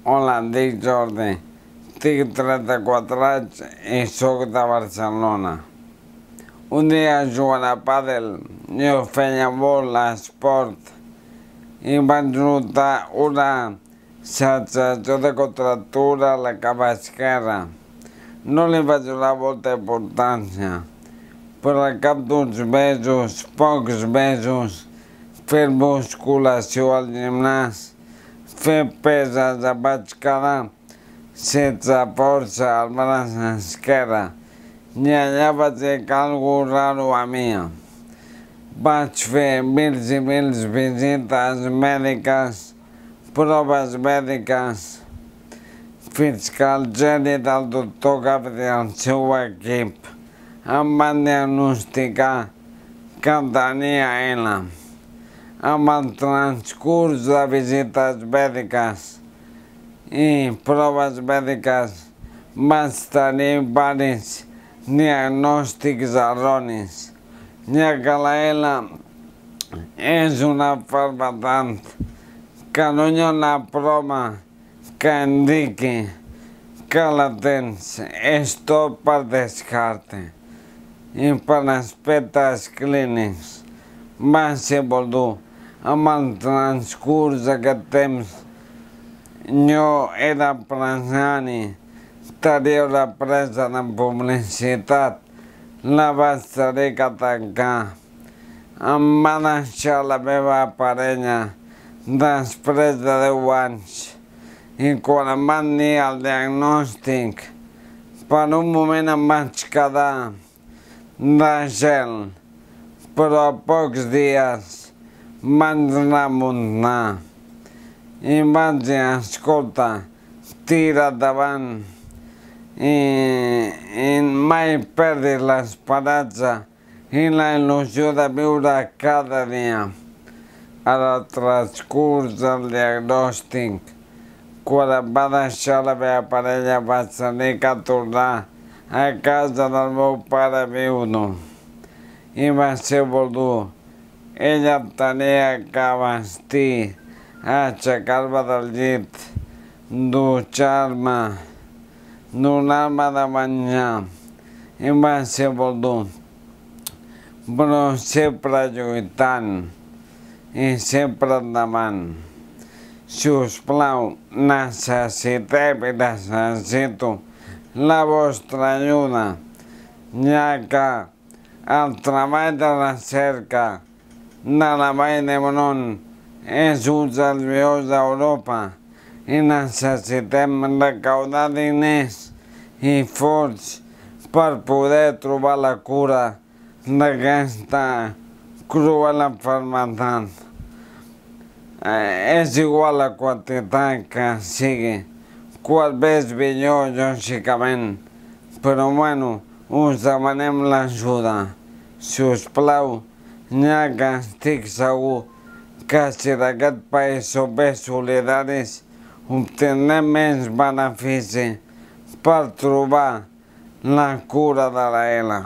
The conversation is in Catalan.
Hola, em dic Jordi, tinc 34 anys i soc de Barcelona. Un dia jugant a pàdel, jo feia molt esport i vaig notar una sensació de contractura a la cama esquerra. No li vaig donar molta importància, però al cap d'uns mesos, pocs mesos, fent musculació al gimnàs, fer peses, em vaig quedar sense força al braç esquerre i allà vaig dir que alguna cosa raro a mi. Vaig fer mils i mils visites mèdiques, proves mèdiques, fins que el geni del doctor Gabriel i el seu equip em van diagnosticar que tenia ELA. Amb el transcurs de visites mèdiques i proves mèdiques vaig tenir diversos diagnòstics erronis, ja que la ELA és una malaltia que no hi ha una prova que indiqui que la tens, és tot per descarte i per aspectes clínics. Va ser molt dur. Amb el transcurs d'aquest temps, jo era empresari, tenia una empresa de publicitat, la vaig tenir que tancar. Em va deixar la meva parella després de 10 anys i quan em van dir el diagnòstic, per un moment em vaig quedar de gel, però a pocs dies vaig remuntar i vaig dir, escolta, tira endavant i mai perdis l'esperança i la il·lusió de viure cada dia. En el transcurs del diagnòstic, quan em va deixar la meva parella, vaig tenir que tornar a casa del meu pare viudo i va ser molt dur. Ella em tenia que vestir, aixecar-me del llit, dutxar-me, donar-me de menjar i va ser molt dur. Però sempre lluitant i sempre endavant. Si us plau, necessitem i necessito la vostra ajuda, ja que el treball de recerca de la Vall d'Hebron és un dels millors d'Europa i necessitem recaudar diners i fons per poder trobar la cura d'aquesta cruel malaltia. És igual la quantitat que sigui, quan més millor, lògicament, però bueno, us demanem l'ajuda. Si us plau, ja que estic segur que si en aquest país som més solidaris, obtindrem més benefici per trobar la cura de la ELA.